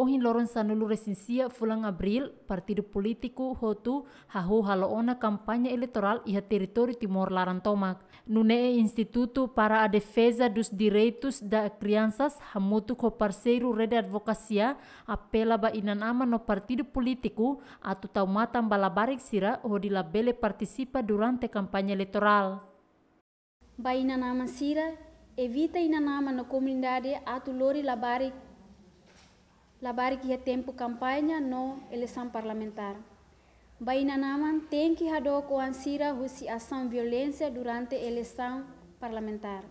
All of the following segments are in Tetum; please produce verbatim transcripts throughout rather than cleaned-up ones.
Ohin loron sanulu-resin-sia fulan Abríl, partidu polítiku hotu hahú halo ona kampaña eleitorál iha territóriu Timor laran tomak. Nune'e Institutu para a Defesa dos Direitos da Crianças hamutuk ho parseiru Rede Advokasia apela ba inan-aman no partidu polítiku atu tau matan ba labarik sira hodi labele partisipa durante kampaña eleitorál. Ba inan-aman sira, evita inan-aman no komunidade atu lori labarik, labarik iha tempu kampaña no eleisaun parlamentár. Ba inan-aman tenke hadook oan sira husi asaun violénsia durante eleisaun parlamentár.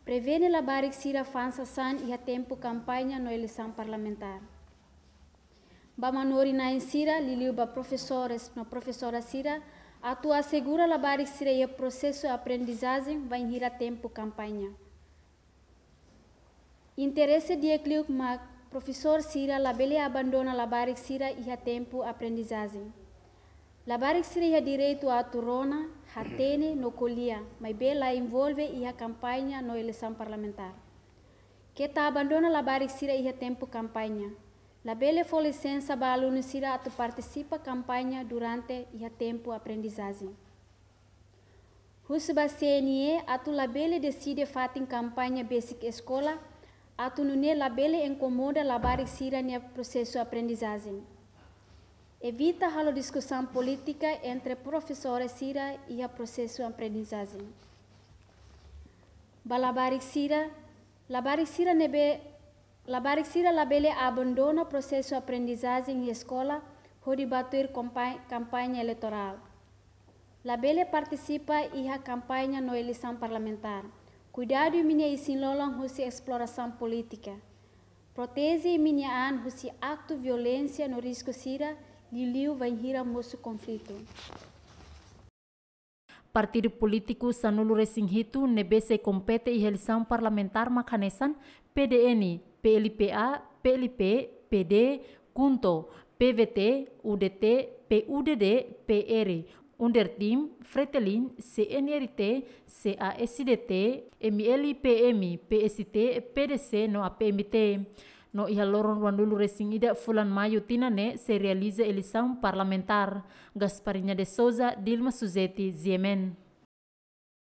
Prevene labarik sira fa'an sasán iha tempu kampaña no eleisaun parlamentár. Ba manorin-na'in sira, liuliu ba profesores no profesora sira, atu asegura labarik sira iha prosesu aprendizajen bainhira tempu kampaña. Interese di'ak liu mak profesór sira labele abandona labarik sira iha tempu aprendizajen. Labarik sira iha direitu atu rona, hatene no ko'alia, maibé la envolve iha kampaña no eleisaun parlamentár. Keta abandona labarik sira iha tempu kampaña. Labele fó lisensa ba alunu sira atu partisipa kampaña durante iha tempu aprendizajen. Husu ba C N E atu labele deside fatin kampaña besik eskola, atu nune'e labele inkomoda labarik sira-nia prosesu aprendizajen. Evita halo diskusaun polítika entre profesores sira iha prosesu aprendizajen. Ba labarik sira, labarik sira ne'ebé, labarik sira labele abandona prosesu aprendizajen iha eskola hodi ba tuir kompa-, kampaña eleitorál. Labele partisipa iha kampaña no eleisaun parlamentár. Kuidadu imi-nia isin-lolon husi esplorasaun polítika. Proteje imi-nia an husi aktu violénsia no risku sira, liuliu bainhira mosu konflitu. Partidu polítiku sanulu-resin-hitu ne'ebé sei kompete iha eleisaun parlamentár mak hanesan P D N, P L P A, P L P, P D, KHUNTO, P V T, U D T, P U D D, P R, UNDERTIM, FRETILIN, C N R T, C A S D T, M L P M, P S T, P D C no A P M T. No iha loron ruanulu-resin-ida fulan Maiu tinan ne'e sei realiza eleisaun parlamentár. Gasparinha de Souza, Dilma Suzeti, G M N.